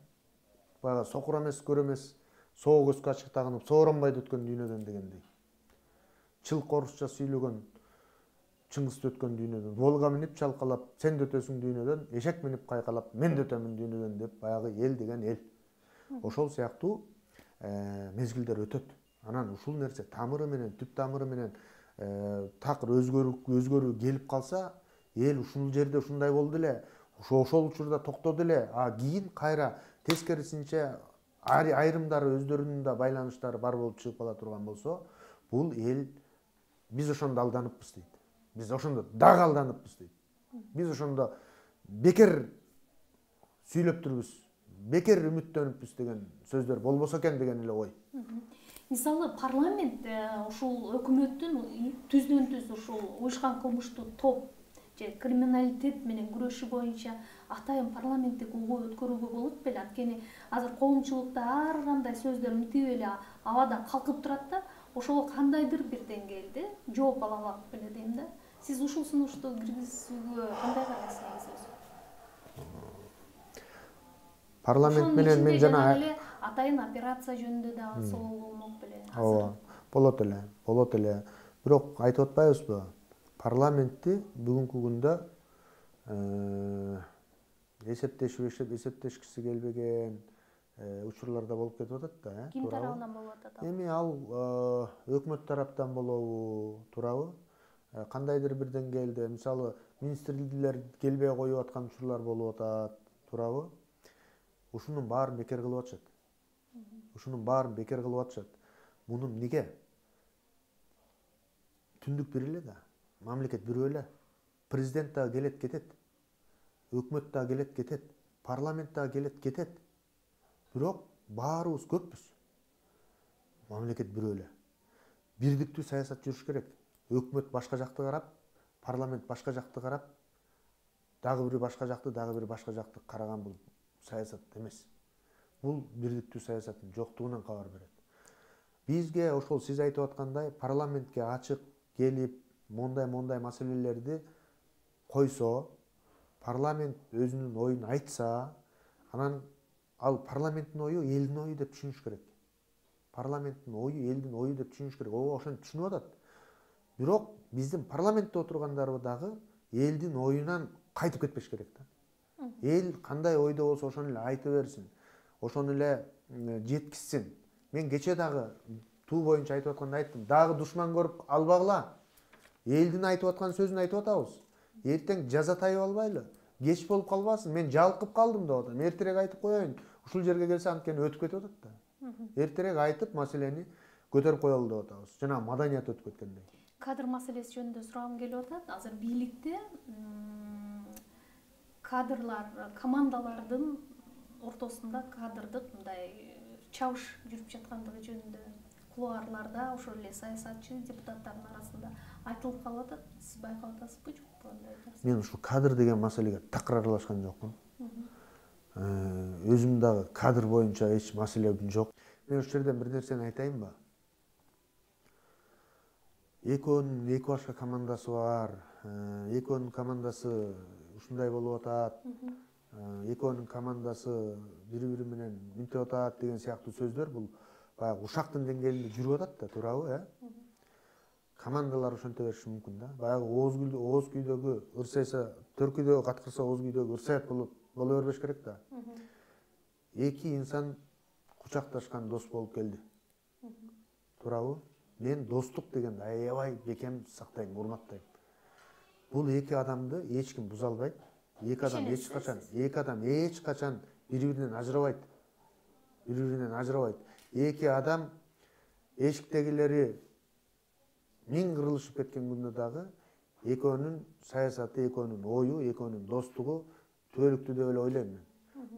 Баягы сокур эмес, көр эмес, соо көзгө ачык тагынып, сооронбайды өткөн дүйнөдөн дегендей. Чылкы орусча сүйлөгөн Чыңгызды өткөн дүйнөдөн, Волга минип чалкалап, сен да өтөсүң дүйнөдөн, эшек минип кайкалап, мен да өтөмүн дүйнөдөн деп баягы эл деген эл. Ошол сыяктуу мезгилдер өтөт. Анан ушул нерсе тамыры менен, түп тамыры менен такыр өзгөрүү келип калса, эл ушул жерде ушундай болду эле, ошол учурда токтоду эле, а кийин кайра тескерисинче айрымдары өздөрүнүн да байланыштары бар болуп чыгып кала турган болсо, бул эл биз ошондо алданыппыз дейт. Биз ошондо дагы алданыппыз дейт. Биз ошондо бекер сүйлөптүрбүз, бекер үмүттөнүппүз деген сөздөр болбосо экен деген эле ой. Мисалы парламент ушул өкмөттүн түздөн түз ушул уюшкан кылмыштуу топ же криминалитет менен күрөшү боюнча атайын парламенттик угуу өткөрүүгө болот беле? Анткени азыр коомчулукта ар кандай сөздөр мынтип эле абада калкып турат да, ошого кандайдыр бир деңгээлде жооп ала алат беле дейм да. Сиз ушул сунушту киргизүүгө кандай карайсыз өзү? Парламент менен мен жана атайын операция жөнүндө дагы соол болмок беле? Ооба, болот эле, болот эле. Бирок айтып атпайбызбы? Парламентти бүгүнкү күндө эсептешип, эсептешкиси келбеген учурларда болуп кетип атат да, Ким тарабынан болуп атат? Эми ал өкмөт тараптан болобу, туурабы? Кандайдыр бир деңгээлде, мисалы, министрлер келбей коюп аткан учурлар болуп атат, туурабы? Ушунун баарын бекер кылып атышат. Ушунун баарын бекер кылып атышат. Муну эмнеге? Түндүк бир эле да. Мамлекет бирөө эле. президент дагы келет кетет, өкмөт дагы келет кетет, парламент дагы келет кетет. Бирок баарыбыз көппүз. Мамлекет бирөө эле. Бирдиктүү саясат жүрүш керек. Өкмөт башка жакты карап, парламент башка жакты карап, дагы бири башка жакты, дагы бири башка жакты караган бул саясат эмес. Бул бирдиктүү саясаттын жоктугунан кабар берет. Бизге ошол сиз айтып аткандай парламентке ачык келип, мондай-мондай маселелерди койсо, парламент өзүнүн оюн айтса, анан ал парламенттин ою элдин ою деп түшүнүш керек. Парламенттин ою элдин ою деп түшүнүш керек. Ого ошентип түшүнүп атат. Бирок биздин парламентте отургандар дагы элдин оюнан кайтып кетпеш керек да. Эл кандай ойдо болсо ошону эле айта берсин, ошону эле жеткизсин. Мен кече дагы туу боюнча айтып атканда айттым, дагы душман көрүп албагыла. Элдин айтып аткан сөзүн айтып атабыз. Эртең жазатайып албайлы. Кеч болуп калбасын. Мен жалкып калдым деп атам. Эртерээк айтып коеюн. Ушул жерге келсе анткени өтүп кетип атат да. Эртерээк айтып маселени көтөрүп коелу деп атабыз. Жана маданият өтүп кеткендей. Кадр маселеси жөнүндө сурагым келип атат. Азыр бийликте кадрлар, командалардын ортосунда кадрдык мындай чабыш жүрүп жаткандыгы жөнүндө кулуарларда ошол эле саясатчы депутаттардын арасында айтылып калып атат. Сиз байкап атасызбы, жокпу андай нерсе? Мен ушул кадр деген маселеге такыр аралашкан жокмун. Өзүм дагы кадр боюнча эч маселем жок. Мен ушул жерден бир нерсени айтайынбы? Экөөнүн эки башка командасы бар. Экөөнүн командасы ушундай болуп атат. Экөөнүн командасы бири-бири менен мынтип атат деген сыяктуу сөздөр бул баягы ушактын деңгээлинде жүрүп атат да, туурабы, э? Командалар ошонто бериши мүмкүн да. Баягы ооз күйдө, ооз күйдөгү ырсайса, төркүйдөгү каткырса, ооз күйдөгү ырсайт болуп боло бербеш керек да. Эки инсан кучакташкан дос болуп келди. Туурабы? Мен достук дегенди аябай бекем сактайм, урматтайм. Бул эки адамды эч ким буза албайт. Эки адам эч качан, эки адам эч качан бири-биринен ажырабайт. Бири-биринен ажырабайт. Эки адам эшиктегилери миң кырылышып кеткен күндө дагы экөөнүн саясаты, экөөнүн ою, экөөнүн достугу түбөлүктүү деп эле ойлойм мен.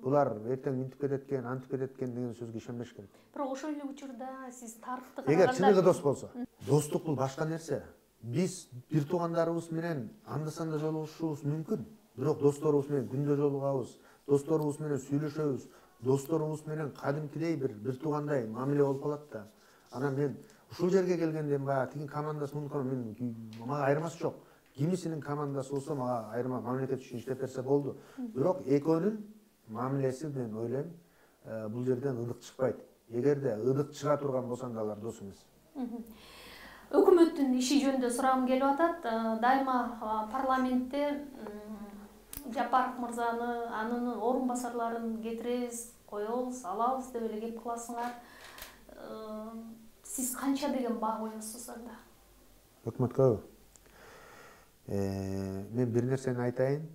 Булар эртең мынтип кетет экен, антип кетет экен деген сөзгө ишенбеш керек. Бирок ошол эле учурда сиз тарыхты караганда, эгер чыныгы дос болсо, достук бул башка нерсе. Биз бир туугандарыбыз менен анда-санда жолугушушубуз мүмкүн. Бирок досторубуз менен күндө жолугабыз, досторубуз менен сүйлөшөбүз, досторубуз менен кадимкидей бир бир туугандай мамиле болуп калат да. Анан мен ушул жерге келгенде баягы тигин командасы мунун мен мага айырмасы жок. Кимисинин командасы болсо мага айырма мамлекет үчүн иштеп берсе болду. Бирок экөөнүн мамилеси мен ойлойм бул жерден ыдык чыкпайт. Эгерде ыдык чыга турган болсо анда алар дос эмес. Өкмөттүн иши жөнүндө сурагым келип атат. Дайыма парламентте Жапаров мырзаны, анын орун басарларын кетиребиз, коебуз, алабыз деп эле кеп кыласыңар. Сиз канча деген баа коесуз анда? Өкмөткө мен бир нерсени айтайын.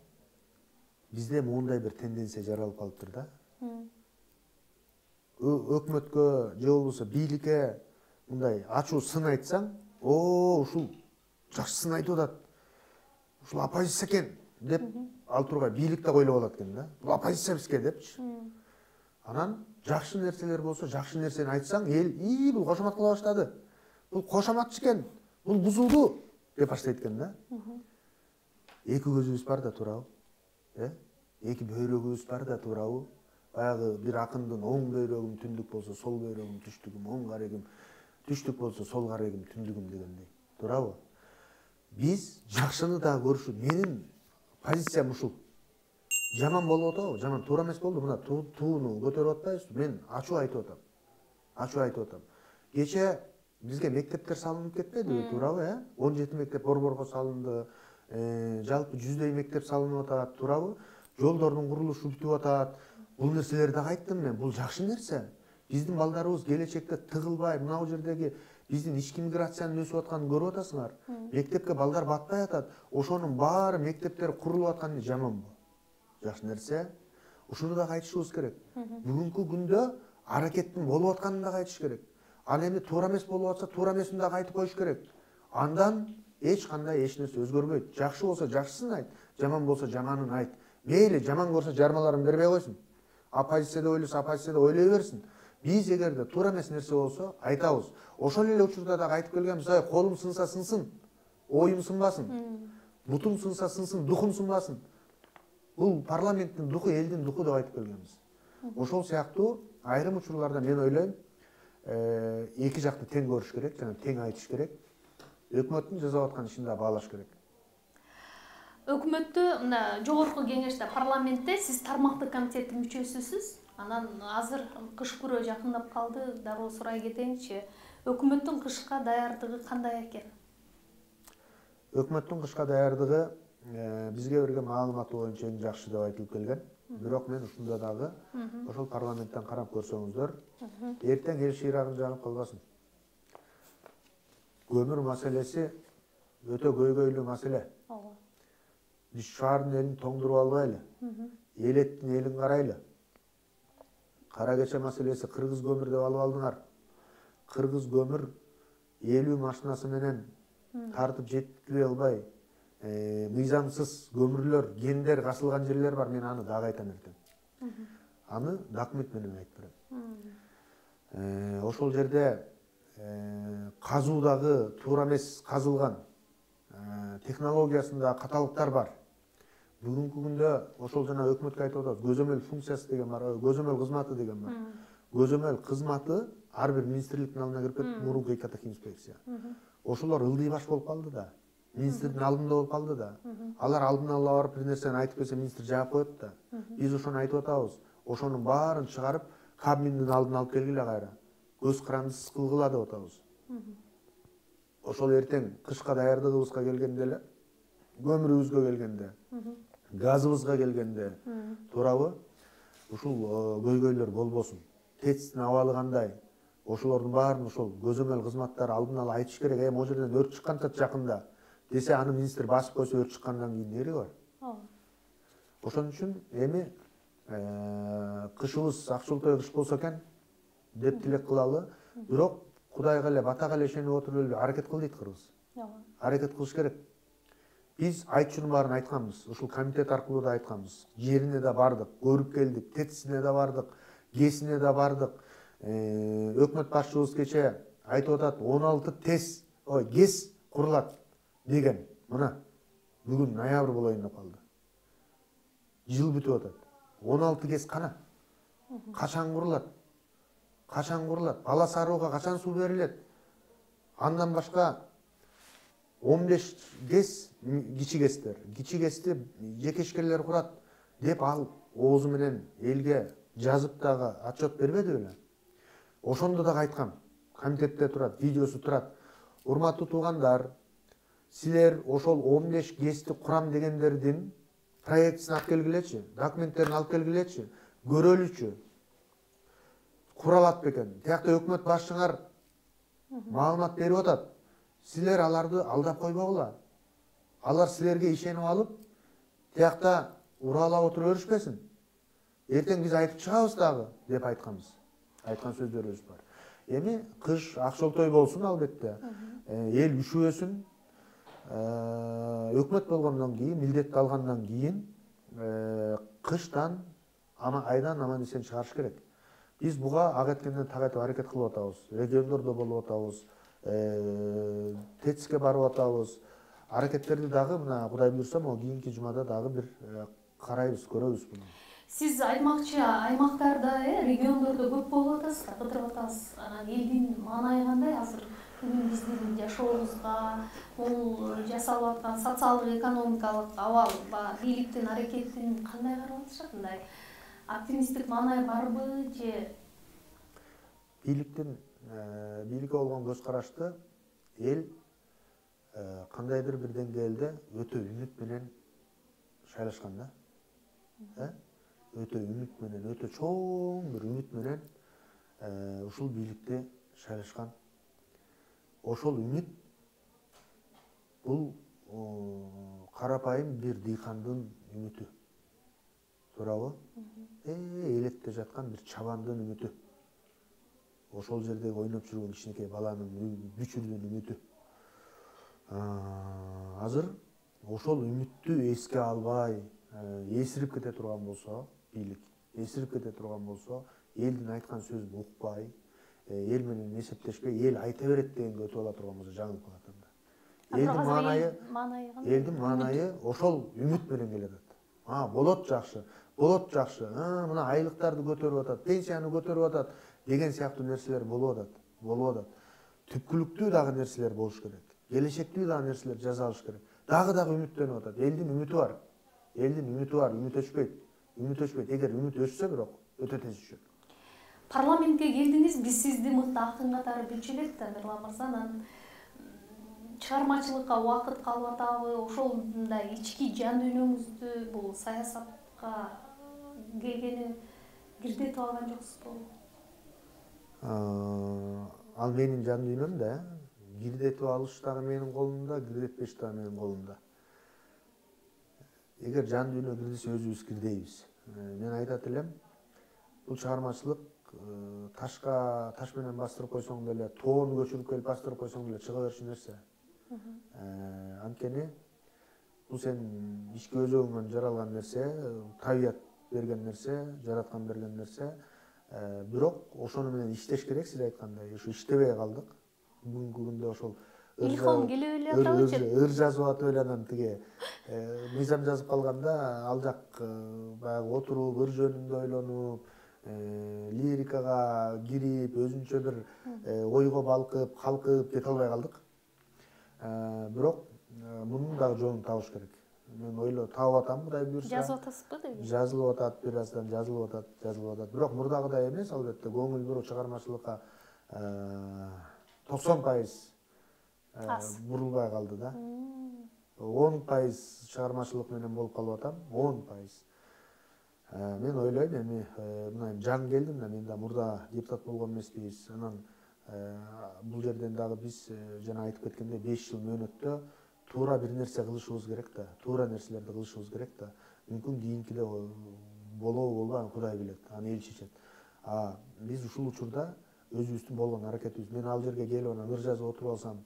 Бизде моундай бир тенденция жаралып калыптыр да. Өкмөткө же болбосо бийликке мындай ачуу сын айтсаң, о, ушул жакшы сын айтып атат. Ушул оппозиция экен деп ал тургай бийлик да ойлоп алат экен да. Бул оппозиция бизге депчи. Анан жакшы нерселер болсо, жакшы нерсени айтсаң, эл и бул кошомат кыла баштады. Бул кошоматчы экен, бул бузулду деп баштайт экен да. Эки көзүбүз бар да, туурабы? Э? Эки бөйрөгүбүз бар да, туурабы? Баягы бир акындын оң бөйрөгүм түндүк болсо, сол бөйрөгүм түштүгүм, оң карегим түштүк болсо, сол карегим түндүгүм дегендей. Туурабы? Биз жакшыны да көрүшүп, менин позициям ушул. Жаман болуп атабы? Жаман туура эмес болду. Мына тууну көтөрүп атпайбызбы? Мен ачуу айтып атам. Ачуу айтып атам. Кече бизге мектептер салынып кетпедиби, туурабы, э? он жети мектеп борборго салынды. Жалпы жүздөй мектеп салынып атат, туурабы? Жолдордун курулушу бүтүп атат. Бул нерселерди айттым мен. Бул жакшы нерсе. Биздин балдарыбыз келечекте тыгылбай, мына жердеги биздин ички миграциянын өсүп атканын көрүп атасыңар. Мектепке балдар батпай атат. Ошонун баары мектептер курулуп атканы жаманбы? Жакшы нерсе. Ушуну да айтышыбыз керек. Бүгүнкү күндө аракеттин болуп атканын да айтыш керек. Ал эми туура эмес болуп атса, туура эмесин да айтып коюш керек. Андан эч кандай эч нерсе өзгөрбөйт. Жакшы болсо жакшысын айт, жаман болсо жаманын айт. Мейли жаман көрсө жармаларын бербей койсун. Оппозицияда ойлосо оппозицияда ойлой берсин. Биз эгерде туура эмес нерсе болсо айтабыз. Ошол эле учурда дагы айтып келгенбиз, ай колум сынса сынсын, оюм сынбасын. Бутум сынса сынсын, духум сынбасын. Бул парламенттин духу, элдин духу деп айтып келгенбиз. Ошол сыяктуу айрым учурларда мен ойлойм, эки жакты тең көрүш керек, жана тең айтыш керек. Өкмөттүн жасап аткан ишин да баалаш керек. Өкмөттү мына жогорку кеңеште, парламентте сиз тармактык комитеттин мүчөсүсүз. Анан азыр кыш күрөө жакындап калды, дароо сурай кетейинчи. Өкмөттүн кышка даярдыгы кандай экен? Өкмөттүн кышка даярдыгы бизге берген маалымат боюнча эң жакшы деп айтылып келген. Бирок мен ушунда дагы ошол парламенттен карап көрсөңүздөр, эртең эл шыйрагын жагып калбасын. Көмүр маселеси өтө көйгөйлүү маселе. Биз шаардын элин тоңдуруп албайлы. Элеттин элин карайлы. Кара кече маселеси кыргыз көмүр деп алып алдыңар. Кыргыз көмүр элүү машинасы менен тартып жеткире албай, мыйзамсыз көмүрлөр, гендер касылган жерлер бар. Мен аны дагы айтам эртең. Аны документ менен айтып берем. Ошол жерде казуудагы туура эмес казылган, технологиясында каталыктар бар. Бүгүнкү күндө ошол жана өкмөткө айтып атабыз, көзөмөл функциясы деген бар, көзөмөл кызматы деген бар. Көзөмөл кызматы ар бир министрликтин алдына кирип кетип, мурунку экотех инспекция. Ошолор ылдый баш болуп калды да. Министрдин алдында болуп калды да. Алар алдын ала барып бир нерсени айтып келсе, министр жаап коет да. Биз ошону айтып атабыз. Ошонун баарын чыгарып, Кабминдин алдына алып келгиле кайра. Көз карандысыз кылгыла деп атабыз. Ошол эртең кышка даярдыгыбызга келгенде эле, көмүрүбүзгө келгенде, газыбызга келгенде, туурабы? Ушул көйгөйлөр болбосун. ТЭЦтин абалы кандай? Ошолордун баарын ошол көзөмөл кызматтары алдын ала айтыш керек. Эми могу жерден өрт чыккан жакында десе, аны министр басып койсо, өрт чыккандан кийин нереги бар? Ошон үчүн эми кышыбыз акчылтой кыш болсо экен деп тилек кылалы. Бирок Кудайга эле, батага эле ишенип отуруп эле аракет кыл дейт кыргыз. Аракет кылыш керек. Биз айтчунун баарын айтканбыз. Ушул комитет аркылуу да айтканбыз. Жерине да бардык, көрүп келдик, ТЭЦине да бардык, ГЭСине да бардык. Өкмөт башчыбыз кече айтып атат, он алты ТЭЦ, ой, ГЭС курулат деген. Мына бүгүн ноябрь болоюн деп калды. Жыл бүтүп атат. он алты ГЭС кана? Качан курулат? Качан курулат? Бала Сарууга качан суу берилет? Андан башка он беш ГЭС кичи ГЭСтер, кичи ГЭСти жеке ишкерлер курат деп ал оозу менен элге жазып дагы отчет бербеди беле? Ошондо дагы айткам. Комитетте турат, видеосу турат. Урматтуу туугандар, силер ошол он беш ГЭСти курам дегендердин проектисин алып келгилечи, документтерин алып келгилечи, көрөлүчү. Кура алат бекен? Тиякта өкмөт башчыңар маалымат берип атат. Силер аларды алдап койбогула. Алар силерге ишенип алып, тиякта уралап отуруп өрүшпесин. Эртең биз айтып чыгабыз дагы деп айтканбыз. Айткан сөздөрүбүз бар. Эми кыш акчолтой болсун албетте. Эл үшүбөсүн. Өкмөт болгондон кийин, милдетти алгандан кийин кыштан ама айдан аман эсен чыгарыш керек. Биз буга ак эткенден так этип аракет кылып атабыз. Региондордо болуп атабыз. ТЭЦке барып атабыз. Аракеттерди дагы мына Кудай буйрса, могу кийинки жумада дагы бир карайбыз, көрөбүз буну. Сиз айтмакчы, аймактарда, региондордо көп болуп атасыз да, кыдырып атасыз. Анан элдин маанайы кандай азыр бүгүн биздин жашообузга, бул жасалып аткан социалдык экономикалык абал, бийликтин аракетин кандай карап атышат? Мындай оптимисттик маанай барбы же? Бийликтин бийликке болгон көз карашты эл кандайдыр бир деңгээлде өтө үмүт менен шайлашкан да. Өтө үмүт менен, өтө чоң бир үмүт менен ушул бийликте шайлашкан. Ошол үмүт бул карапайым бир дыйкандын үмүтү. Туурабы? Элетте жаткан бир чабандын үмүтү. Ошол жерде ойноп жүргөн кичинекей баланын, бүчүрдүн үмүтү. азыр ошол үмүттү эске албай эсирип кете турган болсо, бийлик эсирип кете турган болсо, элдин айткан сөзүн укпай, эл менен эсептешпей, ел айта берет дегенге өтүп ала турган болсо жаңылып калат анда. Элдин маанайы, элдин маанайы ошол үмүт менен келатат. А, болот жакшы, болот жакшы, мына айлыктарды көтөрүп атат, пенсияны көтөрүп атат деген сыяктуу нерселер болуп атат, болуп атат. Түпкүлүктүү дагы нерселер болуш керек. Келечектүү дагы нерселер жасалыш керек. Дагы дагы үмүттөнүп атат. Элдин үмүтү бар. Элдин үмүтү бар, үмүт өчпөйт. Үмүт өчпөйт. Эгер үмүт өчсө бирок өтө тез өчөт. Парламентке келдиңиз, биз сизди мыкты акын катары билчү элек да, Мирлан мырза, анан чыгармачылыкка убакыт калып атабы, ошондой ички жан дүйнөңүздү бул саясатка келгени кирдетип алган жоксузбу? Ал менин жан дүйнөм да, кирдетип алыш дагы менин колумда, кирдетпеш дагы менин колумда. Эгер жан дүйнө кирдесе өзүбүз кирдейбиз. Мен айтат элем, бул чыгармачылык ташка таш менен бастырып койсоң деле, тоону көчүрүп келип бастырып койсоң деле чыга берчү нерсе. Анткени бул сен ички өзөгүңөн жаралган нерсе, табият берген нерсе, жараткан берген нерсе. Бирок ошону менен иштеш керек, сиз айткандай. Ушу иштебей калдык. Бүгүнкү күндө ошол илхом келе эле атабычы. Ыр жазып атып эле анан тиги мыйзам жазып калганда ал жак баягы отуруп, ыр жөнүндө ойлонуп, лирикага кирип, өзүнчө бир ойго балкып, калкып кете албай калдык. Бирок мунун дагы жолун табыш керек. Мен ойлоп таап атам, Кудай буйрса. Жазып атасызбы деги? Жазылып атат, бир аздан жазылып атат, жазылып атат. Бирок мурдагыдай эмес, албетте, көңүл буруп чыгармачылыкка токсон пайыз бурулбай калды да. он пайыз чыгармачылык менен болуп калып атам, он пайыз. Мен ойлойм, эми мына жан келдим да, мен да мурда депутат болгон эмеспиз. Анан бул жерден дагы биз жана айтып кеткендей беш жыл мөөнөттө туура бир нерсе кылышыбыз керек да, туура нерселерди кылышыбыз керек да. Мүмкүн кийинкиде болобу болбойбу, Кудай билет, аны эл чечет. А биз ушул учурда өзүбүздүн болгон аракетибиз, мен ал жерге келип анан ыр жазып отуруп алсам,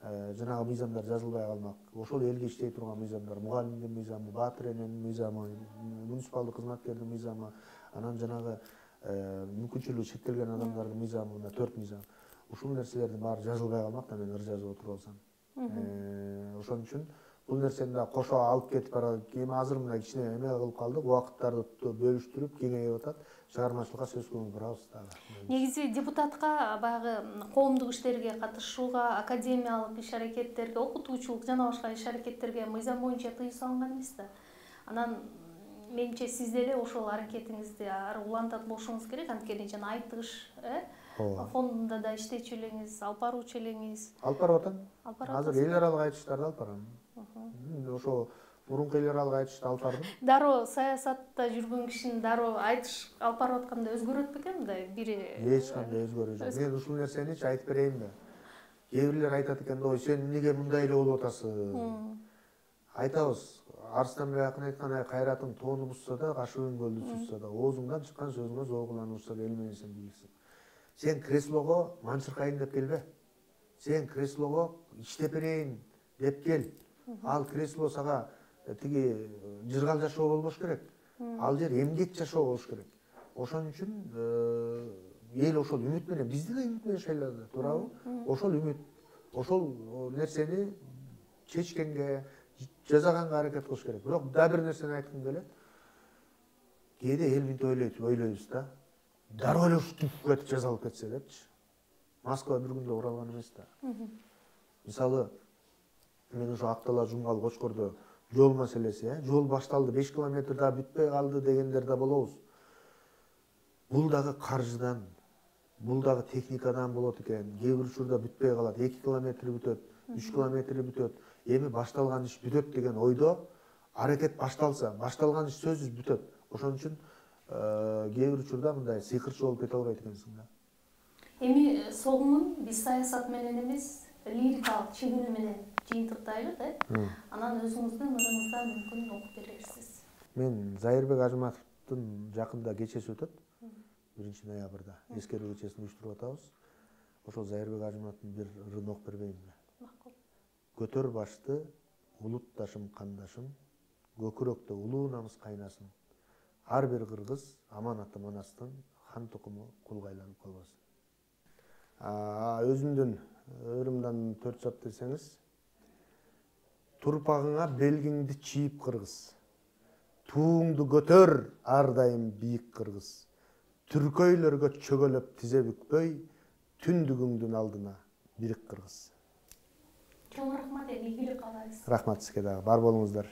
жанагы мыйзамдар жазылбай калмак. Ошол элге иштей турган мыйзамдар, мугалимдин мыйзамы, баатыр эненин мыйзамы, муниципалдык кызматкердин мыйзамы, анан жанагы мүмкүнчүлүгү чектелген адамдардын мыйзамы, мына төрт мыйзам. Ушул нерселердин баары жазылбай калмак да, мен ыр жазып отуруп алсам. Ошон үчүн бул нерсени да кошо алып кетип барат. Эми азыр мына кичине эме кылып калдык, убакыттарды бөлүштүрүп кеңейип атат. Чыгармачылыкка сөз көңүл бурабыз дагы. Негизи депутатка баягы коомдук иштерге катышууга, академиялык иш-аракеттерге, окутуучулук жана башка иш-аракеттерге мыйзам боюнча тыюу салынган эмес да. Анан менимче сиз деле ошол аракетиңизди ары улантат болушуңуз керек, анткени жана айтыш, э? Фондунда да иштечү элеңиз, алып баруучу элеңиз. Алып барып атам. Азыр эл аралык айтыштарды алып барам. Ошо мурунку эл аралык айтышты алып бардым. Дароо саясатта жүргөн кишинин дароо айтыш алып барып атканда өзгөрөт бекен мындай бири? Эч кандай өзгөрүү жок. Мен ушул нерсеничи айтып берейин да. Кээ бирлер айтат экен да, ой, сен эмнеге мындай эле болуп атасың? Айтабыз. Арыстанбек акын айткан, ай кайратың тоону бузса да, кашыгың көлдү сузса да, оозуңдан чыккан сөзүңө зоогуланып урса да эл менен сен бийиксиң. Сен креслого манчыркайын деп келбе. Сен креслого иштеп берейин деп кел. Ал кресло сага тиги жыргал жашоо болбош керек. Ал жер эмгек жашоо болуш керек. Ошон үчүн эл ошол үмүт менен, бизди да үмүт менен шайлады, туурабы? Ошол үмүт, ошол нерсени чечкенге, жасаганга аракет кылыш керек. Бирок да бир нерсени айткым келет. Кээде эл мынтип ойлойт, ойлойбуз да. Дароо эле ушу түп кетип жазалып кетсе депчи. Москва бир күндө уралган эмес да. Мисалы, мен ошо Актала Жумгал Кочкордо жол маселеси, э, жол башталды, беш километр да бүтпөй калды дегендер да болобуз. Бул дагы каржыдан, бул дагы техникадан болот экен. Кээ бир учурда бүтпөй калат, эки километри бүтөт, үч километри бүтөт. Эми башталган иш бүтөт деген ойдо аракет башталса, башталган иш сөзсүз бүтөт. Ошон үчүн кээ бир учурда мындай сыйкырчы болуп кете албайт экенсиң да. Эми согумун биз саясат менен эмес, лирикалык чыгыны менен жыйынтыктайлы да. Анан өзүңүздүн ырыңыздан мүмкүн окуп берерсиз. Мен Зайырбек Ажыматовдун жакында кечеси өтөт. биринчи ноябрда эскерүү кечесин уюштуруп атабыз. Ошол Зайырбек Ажыматовдун бир ырын окуп бербейинби? Макул. көтөр башты, улутташым, кандашым, көкүрөктө улуу намыс кайнасын. Ар бир кыргыз аманаты манастын, хан тукуму кулга айланып калбасын. Өзүмдүн өрүмдан төрт сап десеңиз, турпагыңа белгиңди чийип кыргыз, тууңду көтөр ар дайым бийик кыргыз, түркөйлөргө чөгөлөп тизе бүкпөй, түндүгүңдүн алдына бирик кыргыз. Чоң рахмат, ийгилик каалайбыз. Рахмат сизге дагы, бар болуңуздар.